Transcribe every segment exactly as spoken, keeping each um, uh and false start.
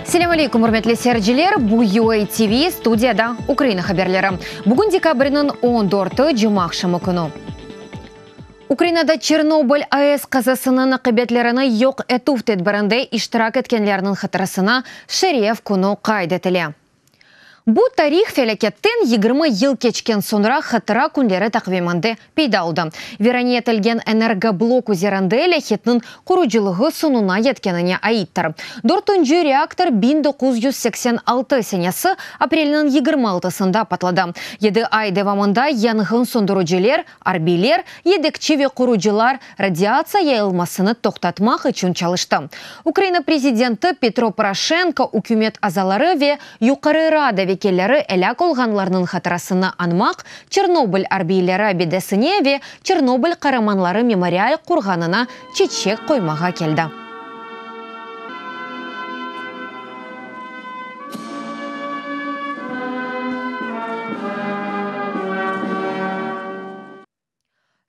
Selâm aleyküm, ürmetli seyirciler. Bu U A T V studiyada Ukraina haberleri. Bugün dekabrniñ on dörtü cuma aqşamı künü. Ukrainada Çernobıl A E S qazasınıñ aqibetlerini yoq etüv tedbirinde iştirak etkenlerniñ hatırasına Şeref künü qayd etile. Bu tarih felâketten yigirmi yıl keçken soñra hatıra künleri taqviminde peyda oldı. Virane etilgen energoblok üzerinde lâhitniñ qurucılığı soñuna yetkenine aittir. Dörtünci reaktor biñ doquz yüz seksen altı senesi aprelniñ yigirmi altısında patladı. Yedi ay devamında yanğın söndürüciler, arbiyler, yedekçi ve qurucılar radiatsiya yayılmasını toqtatmaq içün çalıştı. Ukraina prezidenti Petro Poroşenko, ükümet azaları ve Yuqarı Rada vekilleri elâk olğanlarnıñ hatırasını añmaq Çernobıl arbiyleri abidesine ve Çernobıl qaramanları memorial qurğanına çeçek qoymağa keldi.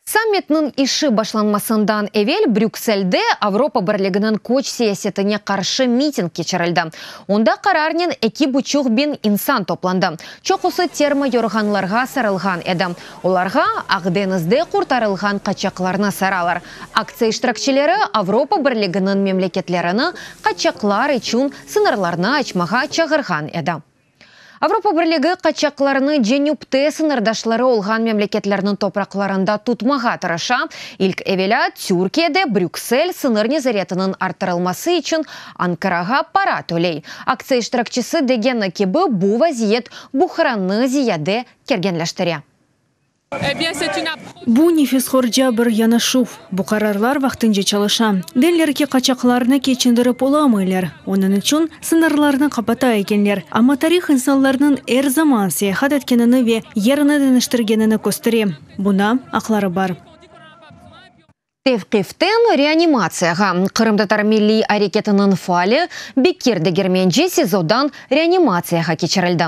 Sammitniñ işi başlanmasından evel Brükselde Avropa Birliginiñ köç siyasetine qarşı miting keçirildi. Onda qararnen eki buçuq biñ insan toplandı. Çoqusı termo yorğanlarğa sarılğan edi. Olarğa Aqdeñizde qurtarılğan qaçaqlarnı saralar. Aktsiya iştirakçileri Avropa Birliginiñ memleketlerini qaçaqlar içün sıñırlarnı açmağa çağırğan edi. Avropa Birligi qaçaqlarnı cenüpte sıñırdaşları olğan memleketlerniñ topraqlarında tutmağa tırışa. İlk evelâ Türkiyede Brüksel sıñır nezaretiniñ arttırılması içün Ankarağa para töley. Aktsiya iştirakçisi degeni kibi bu vaziyet buhrannı ziyade kerginleştire. Bu nefishorca bir yanaşuv. Bu qararlar vaqtınca çalışa. Deyler ki, qaçaqlarnı keçindirip olamaylar. Onıñ içün sıñırlarnı qapata ekenler. Amma tarih insanlarnıñ er zaman seyahat etkenini ve yerini deñiştirgenini köstere. Buna aqları bar. Tevqiften reanimatsiyağa. Qırımtatar milliy areketiniñ faali Bekir Degermenci SİZOdan reanimatsiyağa keçirildi.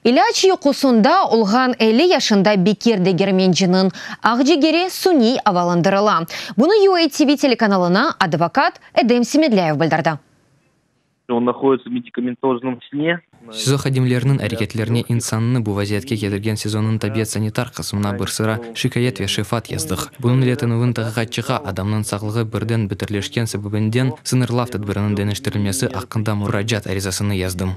İlâc yuqusında olğan elli yaşında Bekir Degermenciniñ aqcigeri suniy avalandırıla. Bunı U A T V telekanalına advokat Edem Semedlâyev bildirdi. Он находится в медикаментозном сне. SİZO hadimleriniñ areketlerine insannı bu vaziyetke ketirgen SİZOnıñ tabiat-sanitar qısmına bir sıra şikâyet ve şefat yazdıq. Bunıñ ile tünevin taqiqatçığa adamnıñ sağlığı birden beterleşken sebebinden sıñırlav tedbiriniñ deñiştirilmesi aqqında muracaat arizasını yazdım.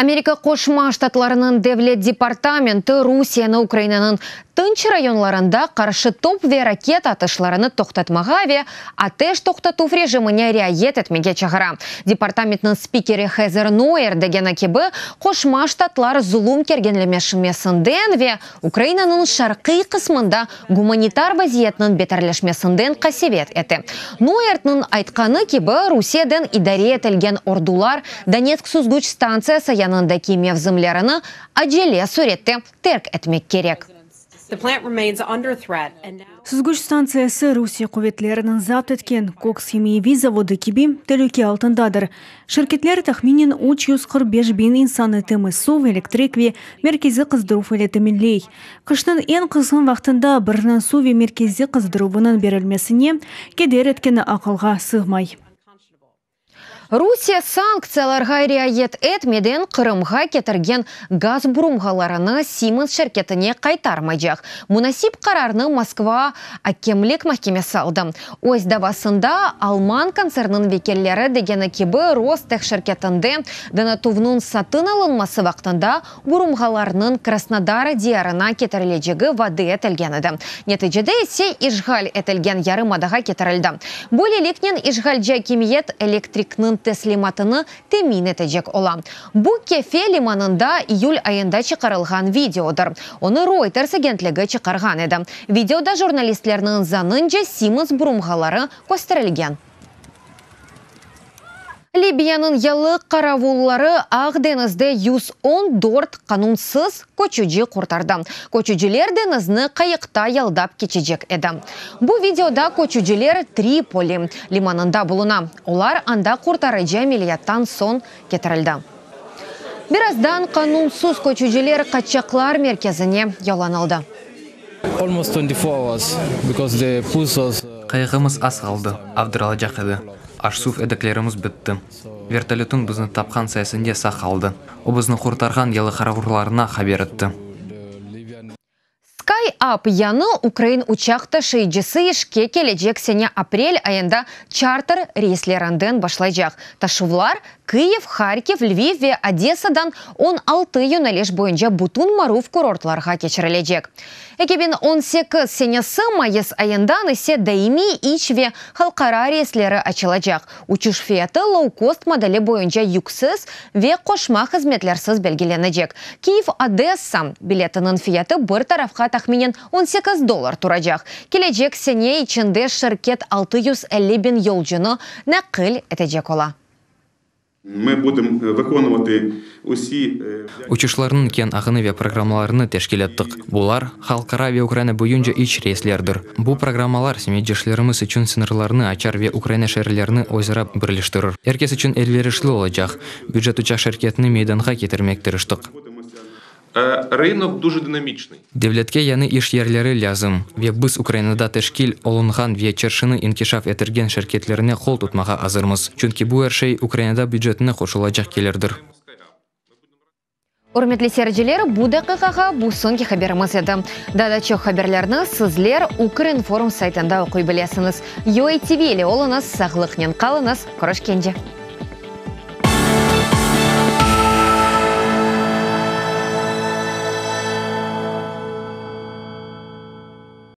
Amerika Qoşma Ştatlarınıñ Devlet Departamenti Rusiyeni Ukrainanıñ tınç rayonlarında qarşı top ve raketa atışlarını toqtatmağa ve ateş toqtatuv rejimine riayet etmege çağıra. Departamentniñ spikeri Heather Nauert degeni kibi, Qoşma Ştatlar zulum kerginleşmesinden ve Ukrainanıñ şarqiy qısmında gumanitar vaziyetniñ beterleşmesinden qasevet ete. Nauertniñ aytqanı kibi, Rusiyeden idare etilgen ordular Donetsk süzgüç stantsiyası yanındaki mevzimlerini acele sürette terk etmek kerek. Süzgüç stantsiyası Rusiye quvetleriniñ zapt etken Koks himiyeviy zavodı kibi telüke altındadır. Şirketler tahminen üç yüz qırq beş biñ insannı temiz suv, elektrik ve merkeziy qızdıruv ile teminley. Qışnıñ eñ qızğın vaqtında birniñ suv ve merkeziy qızdıruvınıñ berilmesine keder etkeni aqılğa sığmay. Rusiye sanktsiyalarğa riayet etmeden Qırımğa ketirgen gaz burulğalarını Siemens şirketine qaytarmaycaq. Munasip qararnı Moskva akemlik mahkemesi aldı. Öz davasında Alman kontserniniñ vekilleri degeni kibi Rosteh şirketinde donatuvnıñ satın alınması vaqtında burulğalarnıñ Krasnodar diyarına ketirilecegi vade etilgen edi. Neticede ise işğal etilgen yarımadağa ketirildi. Böyleliknen işğalci akimiyet elektrikniñ teslimatını temin etecek ola. Bu Kefe limanında iyül ayında çıqarılğan videodır. Onı Reuters agentligi çıqarğan edi. Videoda jurnalistlerniñ zanınca Siemens burulğaları kösterilgen. Libiyanıñ yalı qaravulları Aq deñizde yüz on dört qanunsız köçüci qurtardı. Köçüciler deñizni qayıqta yaldap keçecek edi. Bu videoda köçüciler Tripoli limanında buluna. Olar anda qurtarıcı ameliyattan soñ ketirildi. Birazdan qanunsız köçüciler qaçaqlar merkezine yollanıldı. Almost twenty-four hours, because they push us. Qayığımız az qaldı, avdırılacaq edi. Aş-suv yedeklerimiz bitti. Vertolötnıñ bizni tapqanı sayesinde sağ qaldıq. O bizni qurtarğan yalı qaravullarına haber etti. SkyUp yañı ukrain uçaq taşıyıcısı işke kelecek sene aprel ayında çarter reyslerinden başlaycaq. Taşuvlar Kyiv, Harkiv, Lviv ve Odessadan on altı yöneliş boyunca bütün maruv kurortlarğa keçirilecek. eki biñ on sekiz senesi mayıs ayından ise daimiy iç ve halqara reysleri açılacaq. Uçuş fiyatı low-cost modeli boyunca yüksiz ve qoşma hızmetlersiz belgilenecek. Kyiv-Odessa biletiniñ fiyatı bir tarafqa tahminen on sekiz dollar turacaq. Kelecek sene içinde şirket altı yüz elli biñ yolcunı naqil etecek ola. Ми будемо виконувати усі Uçuşlarnıñ keñ ağını ve programmalarını teşkil ettik. Bular halqara ve Ukraina boyunca iç reyslerdir. Bu programmalar semetdeşlerimiz içün sıñırlarnı açar ve Ukraina şeerlerini özara birleştirir. Er kes içün elverişli olacaq bücet uçaq şirketini meydanğa ketirmege tırıştıq. Ринок дуже динамічний. Devletke yañı iş yerleri lâzim ve biz Ukrainada teşkil olunğan ve çarşını inkişaf ettirgen şirketlerine qol tutmağa azırmız. Çünki bu er şey Ukrainada bücetine qoşulacaq kelirdir. Ürmetli seyirciler, bu daqiqağa bu soñki haberimiz edi. Daa da çoq haberlerni sizler Ukrinform saytında oquy bilesiñiz. U A T V ile oluñız, sağlıqnen qalıñız, körüşkence.